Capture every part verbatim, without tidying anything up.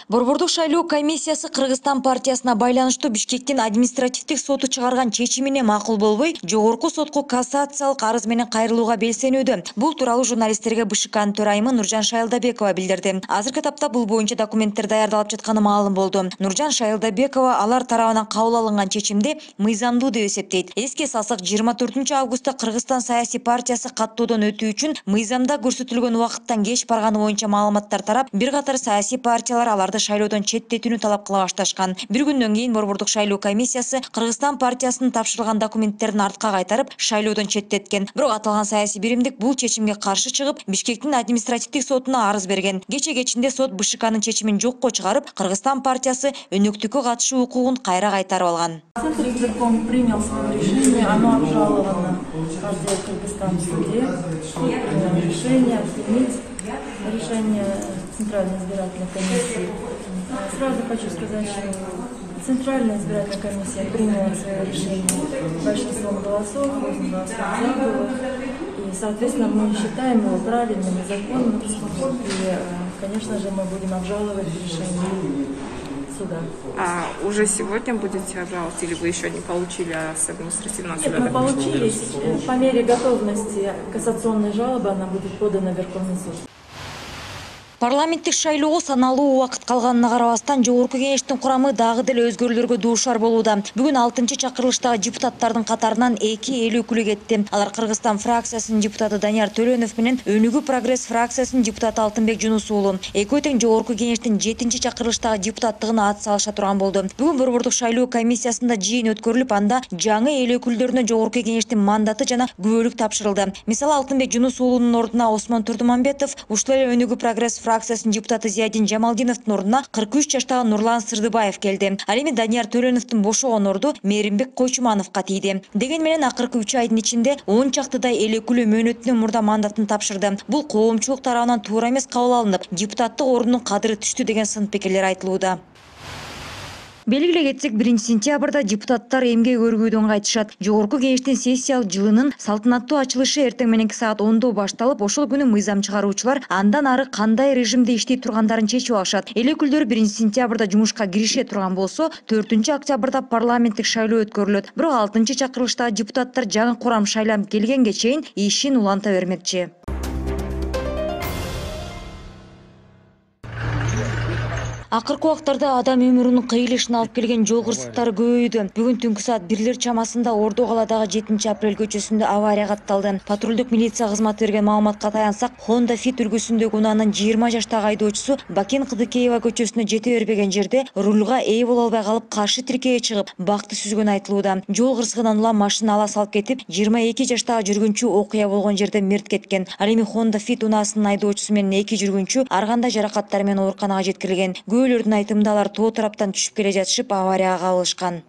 Борбордук шайлоо комиссиясы Кыргызстан партиясына байланыштуу Бишкектин административдик соту чыгарган чечимине макул болбой, жогорку сотко кассациялык арыз менен кайрылууга белсенүүдө. Бул тууралуу журналисттерге БШКнын төрайымы Нуржан Шайылдабекова билдирди. Азыркы тапта бул боюнча документтер даярдалып жатканы маалым болду. Нуржан Шайылдабекова алар тарабынан кабыл алынган чечимди мыйзамдуу деп эсептейт. Эске салсак, жыйырма төртүнчү августта Кыргызстан саясий партиясы каттоодон өтүү үчүн мыйзамда көрсөтүлгөн убакыттан кеч барганы боюнча маалыматтар тарап, бир катар саясий партиялар аларды шайлоодон четтетүүнү талап кыла башташкан. Бир күндөн кийин Борбордук шайлоо комиссиясы Кыргызстан партиясынын тапшырылган документтерин артка кайтарып, шайлоодон четтеткен. Бирок аталган саясий биримдик бул чечимге каршы чыгып, Бишкектин административдик сотуна арыз берген. Кече кечинде сот БШКнын чечимин жокко чыгарып, Кыргызстан партиясы өнөктүккө катышуу укугун кайра кайтарып алган. Центр избирком принял свое решение, оно обжаловано партия Кыргызстан в суде. Суд принял решение отменить решение Центральной избирательной комиссии. Сразу хочу сказать, что Центральная избирательная комиссия приняла свое решение большинством голосов, восемь голосов за было. И, соответственно, мы считаем его правильным и законным. И, конечно же, мы будем обжаловать решение суда. А уже сегодня будете обжаловать или вы еще не получили, а с административного суда? Нет, мы получили. По мере готовности кассационной жалобы она будет подана в Верховный суд. Парламенттик шайлоого саналуу убакыт калганына карабастан, жогорку кеңештин курамы дагы деле өзгөрүүлөргө дуушар болууда. Бүгүн алтынчы чакырылыштагы депутаттардын катарынан эки эл өкүлү кетти. Алар Кыргызстан фракциясынын депутаты Данияр Төлөнов менен Өнүгүү прогресс фракциясынын депутаты Алтынбек Жунус уулу. Экөө тең жогорку кеңештин жетинчи чакырылыштагы депутаттыгына ат салыша турган болду. Бүгүн Борбордук шайлоо комиссиясында жыйын өткөрүлүп, анда жаңы эл өкүлдөрүнө жогорку кеңештин мандаты жана күбөлүк тапшырылды. Мисалы, Алтынбек Жунус уулунун ордуна Осмон Турдумамбетов, ушул эле Өнүгүү прогресс фракциясынын депутаты Зиядин Жамалдиновдун ордуна кырк үч жаштагы Нурлан Сырдыбаев келди. Ал эми Данияр Төлөновдун бошогон орду Мээримбек Койчумановго тийди. Деген менен акыркы үч айдын ичинде он чактыдай эл өкүлү мөөнөтүнөн мурда мандатын тапшырды. Бул коомчулук тарабынан туура эмес кабыл алынып, депутаттык ордунун кадыры түштү деген сын пикирлер айтылууда. Белгилей кетсек, биринчи сентябрда депутаттар эмгек өргүүдөн кайтышат. Жогорку кеңештин сессиялык жылынын салтанаттуу ачылышы эртең мененки саат ондо башталып, ошол күнү мыйзам чыгаруучулар андан ары кандай режимде иштей тургандарын чечип алышат. Эл өкүлдөрү биринчи сентябрда жумушка кирише турган болсо, төртүнчү октябрда парламенттик шайлоо өткөрүлөт. Бирок алтынчы чакырылыштагы депутаттар жаңы курам шайланып келгенге чейин ишин уланта бермекчи. Акыркы убактарда адам өмүрүнүн кыйылышына алып келген жол кырсыктары көбөйдү. Бүгүн түнкү саат бирлер чамасында Ордо калаадагы жетинчи апрель көчөсүндө авария катталды. Патрулдук милиция кызматы берген маалыматка таянсак, Honda Fit үлгүсүндөгү унаанын жыйырма жаштагы айдоочусу Бакен Кыдыкеева көчөсүнө жете бербеген жерде рулга ээ боло албай калып, каршы тиркейге чыгып, бакты сүзгөнү айтылууда. Жол кырсыгынан улам машина ала салып кетип, жыйырма эки жаштагы жүргүнчү окуя болгон жерде мерт кеткен. Ал эми Honda Fit унаасынын айдоочусу менен эки жүргүнчү ар кандай жаракаттар менен ооруканага жеткирилген. Күбөлөрдүн айтымында алар тоо тараптан түшүп келе жатышып, аварияга кабылышкан.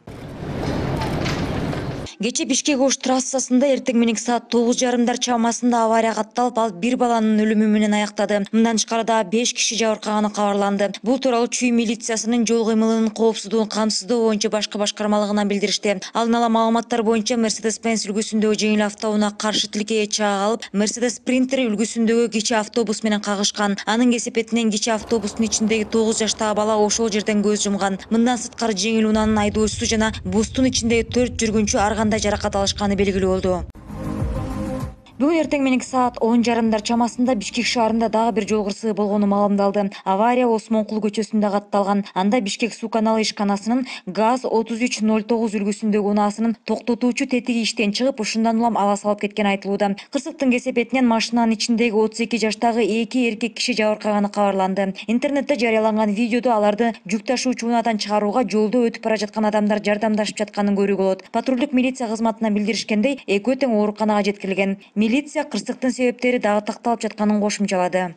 Кече Бишкек-Ош трассасында эртең мененки саат тогуз жарымдар чамасында авария катталып, ал бир баланын өлүмү менен аяктады. Мындан тышкары дагы беш киши жабыркаганы кабарланды. Бул тууралуу Чүй милициясынын жол кыймылынын коопсуздугун камсыздоо боюнча башкы башкармалыгынан билдиришти. Алдын ала маалыматтар боюнча Mercedes-Benz үлгүсүндөгү жеңил автоунаа каршы тилкеге чыга калып, Mercedes Sprinter үлгүсүндөгү кичи автобус менен кагышкан. Анын кесепетинен кичи автобустун ичиндеги тогуз жаштагы бала ошол жерден көз жумган. Мындан сырткары жеңил унаанын айдоочусу жана бустун ичиндеги төрт жүргүнчү ар кандай жаракат алышканы белгилүү болду. Бүгүн эртең мененки саат он жарымдар чамасында Бишкек шаарында дагы бир жол кырсыгы болгону маалымдалды. Авария Осмонкул көчөсүндө катталган. Анда Бишкек суу каналы ишканасынын ГАЗ отуз үч ноль тогуз үлгүсүндөгү унаасынын токтотуучу тетиги иштен чыгып, ушундан улам ала салып кеткени айтылууда. Кырсыктын кесепетинен машинанын ичиндеги отуз эки жаштагы эки эркек киши жабыркаганы кабарланды. Интернетте жарыяланган видеодо аларды жүк ташуучу унаадан чыгарууга жолдо өтүп бара жаткан адамдар жардамдашып жатканын көрүүгө болот. Патрулдук милиция кызматынан билдиришкендей, экөө тең ооруканага жеткирилген. Милиция кырсыктын себептери дагы такталып жатканын кошумчалады.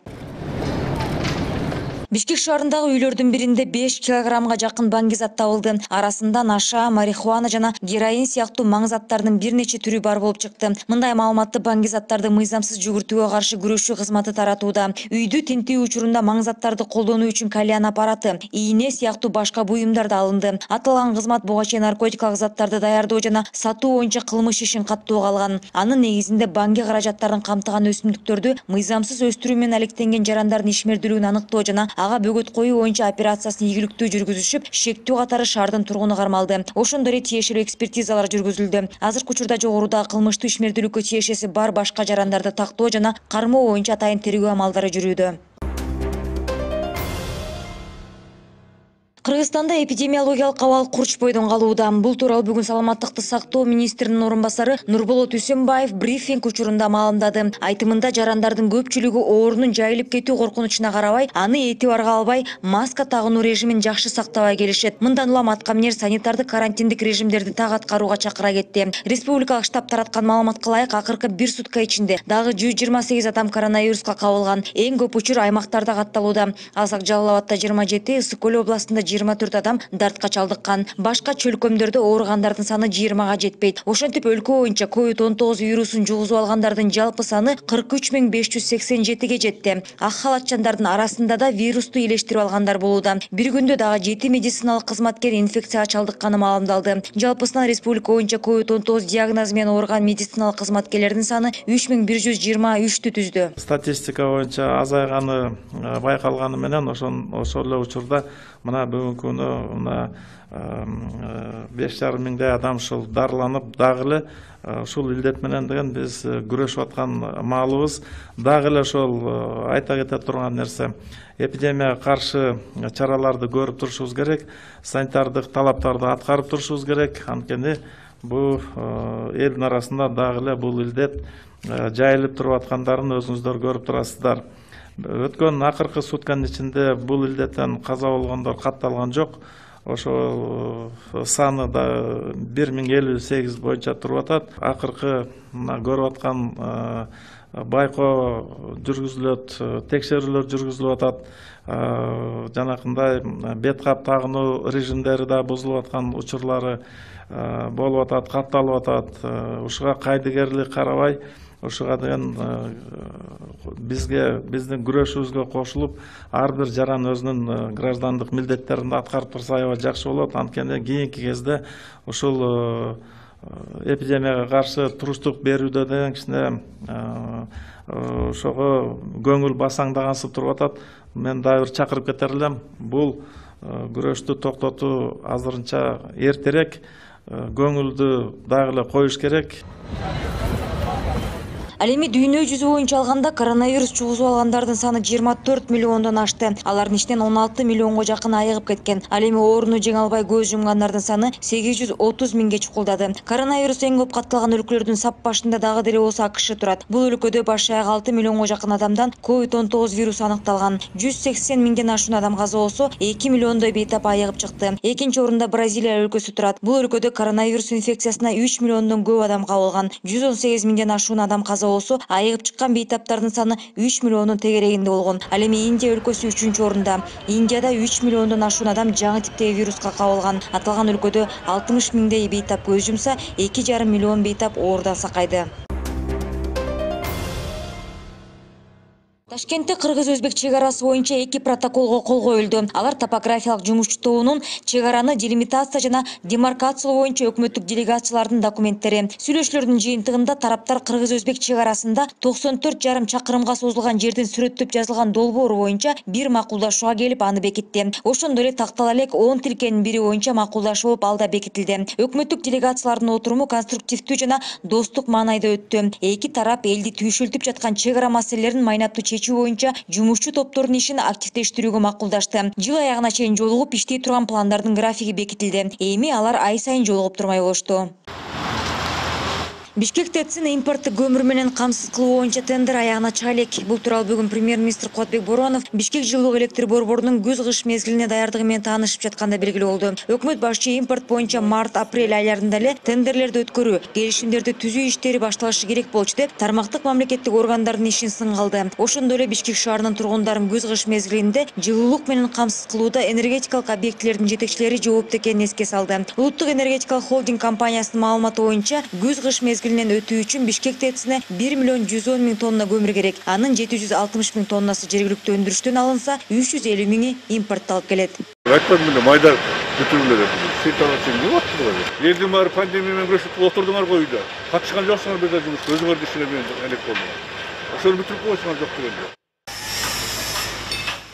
Бишкек шаарындагы үйлөрдүн биринде беш килограммга жакын баңгизат табылды. Арасында наша, марихуана жана героин сыяктуу маңзаттардын бир нече түрү бар болуп чыкты. Мындай маалыматты баңгизаттарды мыйзамсыз жүгүртүүгө каршы күрөшүү кызматы таратууда. Үйдү тинтүү учурунда маңзаттарды колдонуу үчүн кальян аппараты, ийне сыяктуу башка буюмдар да алынды. Аталган кызмат буга чейин наркотикалык заттарды даярдоо жана сатуу боюнча кылмыш ишин каттоого алган. Анын негизинде баңги каражаттарын камтыган өсүмдүктөрдү мыйзамсыз өстүрүү менен алектенген жарандардын ишмердүүлүгүн аныктоо жана ага бөгөт коюу боюнча операциясын ийгиликтүү жүргүзүшүп, шектүү катары шаардын тургуну кармалды. Ошондой эле тиешелүү экспертизалар жүргүзүлдү. Азыркы учурда жогорудагы кылмыштуу ишмердүүлүккө тиешеси бар башка жарандарды тактоо жана кармоо боюнча атайын тергөө амалдары жүрүүдө. Кыргызстанда эпидемиологиялык абал курчпойдон калууда. Бул тууралуу бүгүн саламаттыкты сактоо министринин орун басары Нурболот Үсөнбаев брифинг учурунда маалымдады. Айтымында жарандардын көпчүлүгү оорунун жайылып кетүү коркунучуна карабай, аны этибарга албай, маска тагынуу режимин жакшы сактабай келишет. Мындан улам аткаминер санитардык карантиндик режимдерди так аткарууга чакыра кетти. Республикалык штаб тараткан маалыматка ылайык, акыркы бир сутка ичинде дагы жүз жыйырма сегиз адам коронавируска кабылган. Эң көп учур аймактарда катталууда. Алсак Жалал Абадда жыйырма жети, Ысык Көл областында жыйырма төрт адам дартка чалдыккан. Башка чөлкөмдөрдө ооругандардын саны жыйырмага жетпейт. Ошентип өлкө боюнча ковид он тогуз вирусун жугузуп алгандардын жалпы саны кырк үч миң беш жүз сексен жетиге жетти. Ак халатчандардын арасында да вирусту илештирип алгандар болууда. Бир күндө дагы жети медициналык кызматкер инфекцияга чалдыкканы маалымдалды. Жалпысынан республика боюнча ковид он тогуз диагнозу менен ооруган медициналык кызматкерлердин саны үч миң бир жүз жыйырма үчтү түздү. Статистика боюнча азайганы байкалганы менен ошол эле учурда мына бүгүнкү күнү мына беш жарым миңдей адам ушул дарыланып, дагы эле ушул илдет менен деген биз күрөшүп аткан маалыбыз. Дагы эле ошол айта кете турган нерсе, эпидемияга каршы чараларды көрүп турушубуз керек, санитардык талаптарды аткарып турушубуз керек. Анткени бул элдин арасында дагы эле бул илдет жайылып туруп аткандарын өзүңүздөр көрүп турасыздар. Өткөн акыркы сутканын ичинде бул илдеттен каза болгондор катталган жок. Ошол саны да бир миң элүү сегиз боюнча туруп атат. Акыркы мына көрүп аткан байкоо жүргүзүлөт, текшерүүлөр жүргүзүлүп атат. Жанакындай бет кап тагынуу режимдери да бузулуп аткан учурлары болуп атат, катталып атат. Ушуга кайдыгерлик карабай, ушуга деген бизге биздин күрөшүбүзгө кошулуп, ар бир жаран өзүнүн граждандык милдеттерин аткарып турса аябай жакшы болот. Анткени кийинки кезде ушул эпидемияга каршы туруштук берүүдө деген кичине ошого көңүл басаңдагансып туруп атат. Мен дагы бир чакырып кетер элем. Бул күрөштү токтотуу азырынча эртерээк, көңүлдү дагы эле коюш керек. Ал эми дүйнө жүзү боюнча алганда коронавирус жугузуп алгандардын саны жыйырма төрт миллиондон ашты. Алардын ичинен он алты миллионго жакын айыгып кеткен. Ал эми ооруну жеңе албай көз жумгандардын саны сегиз жүз отуз миңге чукулдады. Коронавирус эң көп катталган өлкөлөрдүн сап башында дагы деле болсо АКШ турат. Бул өлкөдө баш аяк алты миллионго жакын адамдан ковид он тогуз вирусу аныкталган. жүз сексен миңден ашуун адам каза болсо, эки миллиондой бейтап айыгып чыкты. Экинчи орунда Бразилия өлкөсү турат. Бул өлкөдө коронавирус инфекциясына үч миллиондон көп адам кабылган. жүз он сегиз миңден ашуун адам каза болсо, айыгып чыккан бейтаптардын саны үч миллиондун тегерегинде болгон. Ал эми Индия өлкөсү үчүнчү орунда. Индияда үч миллиондон ашуун адам жаңы типтеги вируска кабылган. Аталган өлкөдө алтымыш миңдей бейтап көз жумса, эки жарым миллион бейтап оорудан сакайды. Ташкентте кыргыз-өзбек чек арасы боюнча эки протоколго кол коюлду. Алар топографиялык жумушчу тобунун чек араны делимитация жана демаркациялоо боюнча өкмөттүк делегациялардын документтери. Сүйлөшүүлөрдүн жыйынтыгында тараптар кыргыз-өзбек чек арасында токсон төрт жарым чакырымга созулган жердин сүрөттөп жазылган долбоору боюнча бир макулдашууга келип аны бекитти. Ошондой эле тактала элек он тилкенин бири боюнча макулдашуу болуп ал да бекитилди. Өкмөттүк делегациялардын отуруму конструктивдүү жана достук маанайда өттү. Эки тарап элди түйшөлтүп жаткан чек ара маселелерин майнаптуу чечүү боюнча жумушчу топтордун ишин активдештирүүгө макулдашты. Жыл аягына чейин жолугуп иштей турган пландардын графиги бекитилди. Эми алар ай сайын жолугуп турмай болушту. Бишкек ТЭЦин импорттук көмүр менен камсыз кылуу боюнча тендер аягына чыга элек. Бул тууралуу бүгүн премьер-министр Кубатбек Боронов Бишкек жылуулук электр борборунун күз-кыш мезгилине даярдыгы менен таанышып жатканда белгилүү болду. Өкмөт башчы импорт боюнча март-апрель айларында эле тендерлерди өткөрүү, келишимдерди түзүү иштери башталышы керек болчу деп тармактык мамлекеттик органдардын ишин сынга алды. Ошондой эле Бишкек шаарынын тургундарын күз-кыш мезгилинде жылуулук менен камсыз кылууда энергетикалык объектилердин жетекчилери жоопту экенин эске салды. Улуттук энергетикалык холдинг компаниясынын маалыматы боюнча күз-кыш мезгилинен өтүү үчүн Бишкек ТЭЦине бир миллион жүз он миң тонна көмүр керек. Анын жети жүз алтымыш миң тоннасы жергиликтүү өндүрүштөн алынса, үч жүз элүү миңи импортталып келет. Айтпадым эле майда бүтүрүлөр. Элдин баары пандемия менен күрөшүп отурдуңар го үйдө. Катышкан жоксуңар бир да жумушка, өзүңөр ишине менен элек болдуңар. Ошону бүтүрүп койсуңар жок дегенде.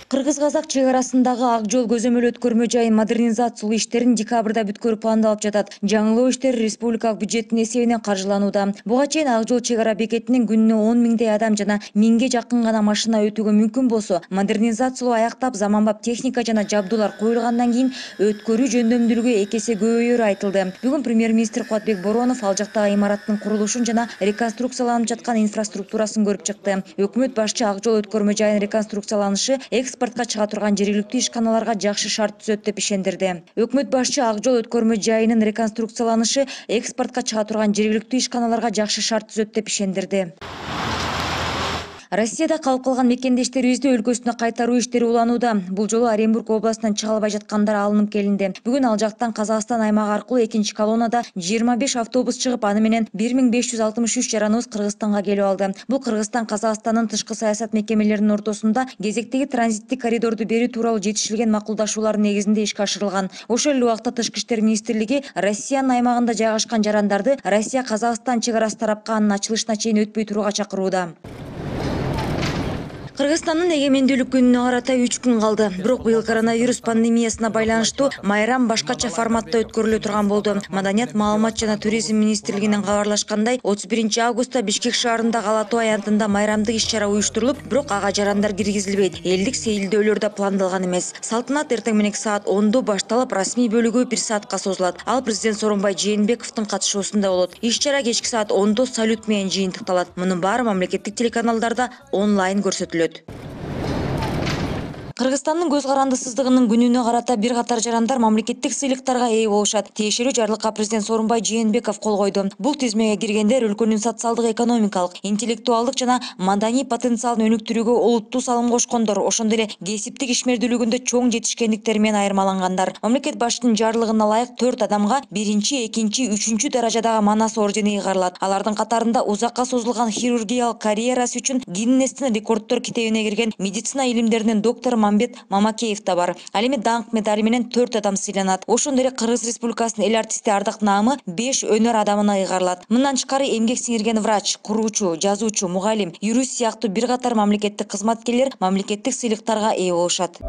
Кыргыз-казак чек арасындагы ак жол көзөмөл өткөрмө жайын модернизациялоо иштерин декабрда бүткөрүү пландалып жатат. Жаңылоо иштери республикалык бюджеттин эсебинен каржыланууда. Буга чейин ак жол чек ара бекетинен күнүнө он миңдей адам жана миңге жакын гана машина өтүүгө мүмкүн болсо, модернизациялоо аяктап, заманбап техника жана жабдуулар коюлгандан кийин өткөрүү жөндөмдүүлүгү эки эсе көбөйөрү айтылды. Бүгүн премьер-министр Кубатбек Боронов ал жактагы имараттын курулушун жана реконструкцияланып жаткан инфраструктурасын көрүп чыкты. Өкмөт башчы ак жол өткөрмө жайын реконструкцияланышы экспортко чыга турган жергиликтүү ишканаларга жакшы шарт түзөт деп ишендирди. Өкмөт башчы ак жол өткөрмө жайынын реконструкцияланышы экспортко чыга турган жергиликтүү ишканаларга жакшы шарт түзөт деп ишендирди. Россияда калып калган мекендештерибизди өлкөсүнө кайтаруу иштери уланууда. Бул жолу Оренбург областынан чыга албай жаткандар алынып келинди. Бүгүн ал жактан Казакстан аймагы аркылуу экинчи колоннада жыйырма беш автобус чыгып, аны менен бир миң беш жүз алтымыш үч жараныбыз Кыргызстанга келип алды. Бул Кыргызстан Казакстандын тышкы саясат мекемелеринин ортосунда кезектеги транзиттик коридорду берүү тууралуу жетишилген макулдашуулар негизинде ишке ашырылган. Ошол эле убакта Тышкы иштер министрлиги Россиянын аймагында жайгашкан жарандарды Россия Казакстан чек арасы тарапка анын ачылышына чейин өтпөй турууга чакырууда. Кыргызстандын эгемендүүлүк күнүнө карата үч күн калды. Бирок быйыл коронавирус пандемиясына байланыштуу майрам башкача форматта өткөрүлө турган болду. Маданият, маалымат жана туризм министрлигинен кабарлашкандай, отуз биринчи августта Бишкек шаарындагы Ала Тоо аянтында майрамдык иш-чара уюштурулуп, бирок ага жарандар киргизилбейт. Элдик сейилдөөлөр да пландалган эмес. Салтанат эртең мененки саат ондо башталып, расмий бөлүгү бир саатка созулат. Ал президент Сооронбай Жээнбековдун катышуусунда болот. Иш-чара кечки саат ондо салют менен жыйынтыкталат. Мунун баары мамлекеттик телеканалдарда онлайн көрсөтүлөт. Кыргызстандын көз карандысыздыгынын күнүнө карата бир катар жарандар мамлекеттик сыйлыктарга ээ болушат. Тиешелүү жарлыкка президент Сооронбай Жээнбеков кол койду. Бул тизмеге киргендер өлкөнүн социалдык, экономикалык, интеллектуалдык жана маданий потенциалын өнүктүрүүгө олуттуу салым кошкондор, ошондой эле кесиптик ишмердүүлүгүндө чоң жетишкендиктери менен айырмалангандар. Мамлекет башчынын жарлыгына ылайык төрт адамга биринчи, экинчи, үчүнчү даражадагы манас ордени ыйгарылат. Алардын катарында узакка созулган хирургиялык карьерасы үчүн Гиннестин рекорддор китебине кирген медицина илимдеринин доктору Мамбет Мамакеев да бар. Ал эми даңк медали менен төрт адам сыйланат. Ошондой эле Кыргыз Республикасынын эл артисти Ардак Наамы беш өнөр адамына ыйгарылат. Мындан тышкары эмгек сиңирген врач, куруучу, жазуучу, мугалим, юрист сыяктуу бир катар мамлекеттик кызматкерлер мамлекеттик сыйлыктарга ээ болушат.